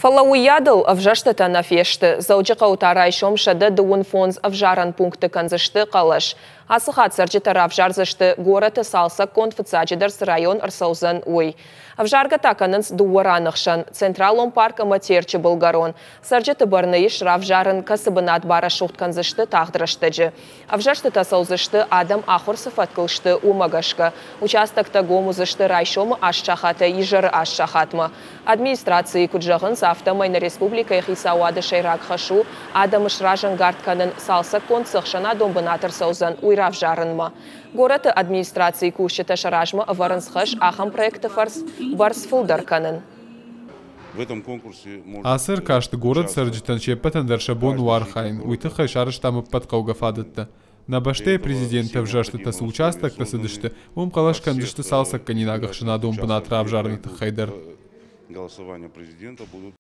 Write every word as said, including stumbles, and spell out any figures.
Фӕлӕ уыйадыл ӕвзӕрстытӕ нӕ фесты. Дзӕуджыхъӕуы та райсом сӕдӕ дыууын фондз ӕвзарӕн пункты кӕндзысты хъӕлӕс. Ацы хатт цӕрджытӕ равзардзысты, горӕты цалцӕггонд фыццаджыдӕр цы район ӕрцӕудзӕн, уый. Ӕвзаргӕ та кӕнынц дыууӕ раны хсӕн – Централон парк ӕмӕ Терчы былгӕрон. Цӕрджыты бӕрны ис равзарын, кӕцы бынат барӕсугъд кӕндзысты тагъд рӕстӕджы. Ӕвзӕрстытӕ цӕудзысты, адӕм ахуыр цы фӕткыл сты, уымӕ гӕсгӕ. Участоктӕ гом уыдзысты райсомы аст сахатӕй изӕры аст сахатмӕ. Администрацийы куыд зӕгъынц, афтӕмӕй нӕ республикӕйы хицауады сӕйраг хӕс у адӕмы сразӕнгард кӕнын, цалцӕггонд цы ӕхсӕнадон бынат ӕрцӕудзӕн, уый равзарынмӕ. Горӕты администрацийы кусджытӕ сӕ размӕ ӕвӕрынц хӕс ахӕм проекты фӕрцы бӕрц фылдӕр кӕнын. Ацы ӕркасты горӕты цӕрджытӕн се ппӕтӕн дӕр сӕ бон у архайын, уый тыххӕй сарӕзтам ӕппӕт хъӕугӕ фадӕттӕ. Нӕ бӕстӕйы президенты ӕвзӕрстытӕ цы участокты цыдысты, уым хъӕлӕс кӕндзысты цалцӕггӕнинаг ӕхсӕнадон бынат равзарыны тыххӕй дӕр.